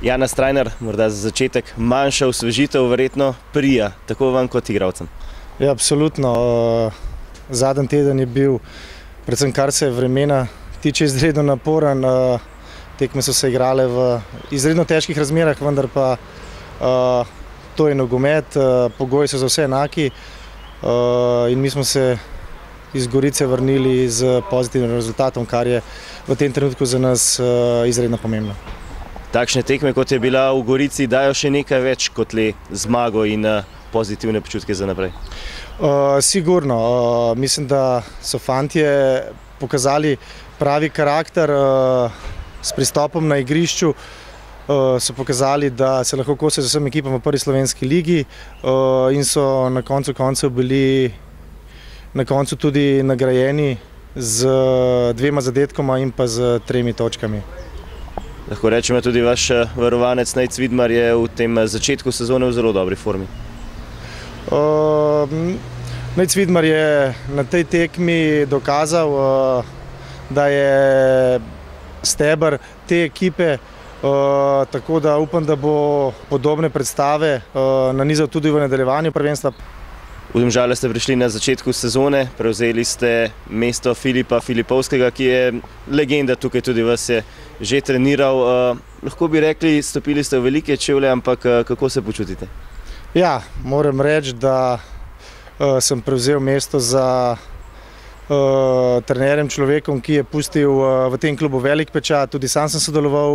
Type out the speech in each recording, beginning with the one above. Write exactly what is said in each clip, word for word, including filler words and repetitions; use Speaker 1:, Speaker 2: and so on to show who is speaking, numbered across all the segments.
Speaker 1: Jana Strajnar, morda za začetek manjša osvežitev verjetno prija, tako vam kot igralcem.
Speaker 2: Ja, absolutno. Zadnji teden je bil, predvsem kar se vremena tiče, izredno naporen. Tekme so se igrale v izredno težkih razmerah, vendar pa to je nogomet, pogoji so za vse enaki in mi smo se iz Gorice vrnili z pozitivnim rezultatom, kar je v tem trenutku za nas izredno pomembno.
Speaker 1: Takšne tekme, kot je bila v Gorici, dajo še nekaj več kot le zmago in pozitivne počutke za naprej?
Speaker 2: Sigurno. Mislim, da so fantje pokazali pravi karakter s pristopom na igrišču. So pokazali, da se lahko kosajo z vsem ekipam v prvi slovenski ligi in so na koncu koncev bili na koncu tudi nagrajeni z dvema zadetkoma in pa z tremi točkami.
Speaker 1: Lahko rečemo, tudi vaš varovanec Nejc Vidmar je v tem začetku sezone v zelo dobri formi.
Speaker 2: Nejc Vidmar je na tej tekmi dokazal, da je steber te ekipe, tako da upam, da bo podobne predstave nanizal tudi v nadaljevanju prvenstva.
Speaker 1: V Domžale ste prišli na začetku sezone, prevzeli ste mesto Filipa Filipovskega, ki je legenda tukaj, tudi vas je že treniral. Lahko bi rekli, stopili ste v velike čevlje, ampak kako se počutite?
Speaker 2: Ja, moram reči, da sem prevzel mesto za trenerjem, človekom, ki je pustil v tem klubu velik pečat. Tudi sam sem sodeloval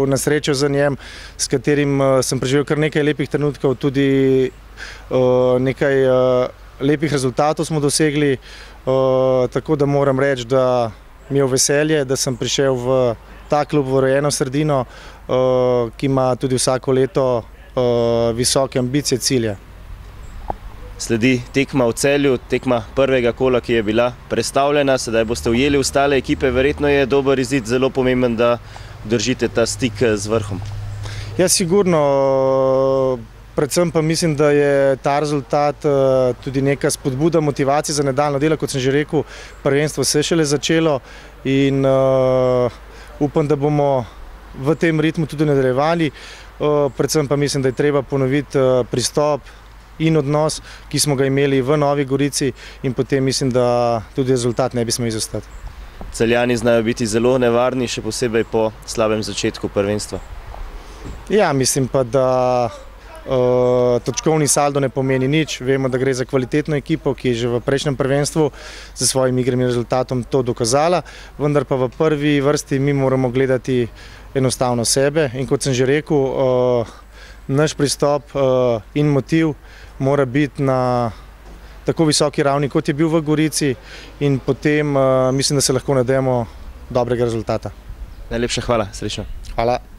Speaker 2: na srečo za njem, s katerim sem preživel kar nekaj lepih trenutkov, tudi nekaj lepih rezultatov smo dosegli, tako da moram reči, da mi je veselje, da sem prišel v ta klub, v rojeno sredino, ki ima tudi vsako leto visoke ambicije, cilje.
Speaker 1: Sledi tekma v Celju, tekma prvega kola, ki je bila prestavljena, sedaj boste ujeli ostale ekipe, verjetno je dober izid, zelo pomemben, da držite ta stik z vrhom.
Speaker 2: Ja, sigurno, predvsem pa mislim, da je ta rezultat tudi neka spodbuda, motivacija za nadaljnje delo, kot sem že rekel, prvenstvo se je šele začelo in upam, da bomo v tem ritmu tudi nadaljevali, predvsem pa mislim, da je treba ponoviti pristop in odnos, ki smo ga imeli v Novi Gorici, in potem mislim, da tudi rezultat ne bi smel izostati.
Speaker 1: Celjani znajo biti zelo nevarni, še posebej po slabem začetku prvenstva.
Speaker 2: Ja, mislim pa, da točkovni saldo ne pomeni nič. Vemo, da gre za kvalitetno ekipo, ki je že v prejšnjem prvenstvu z svojim igrim in rezultatom to dokazala, vendar pa v prvi vrsti mi moramo gledati enostavno sebe in kot sem že rekel, naš pristop in motiv mora biti na tako visoki ravni, kot je bil v Gorici, in potem mislim, da se lahko nadejamo dobrega rezultata.
Speaker 1: Najlepša hvala, srečno.
Speaker 2: Hvala.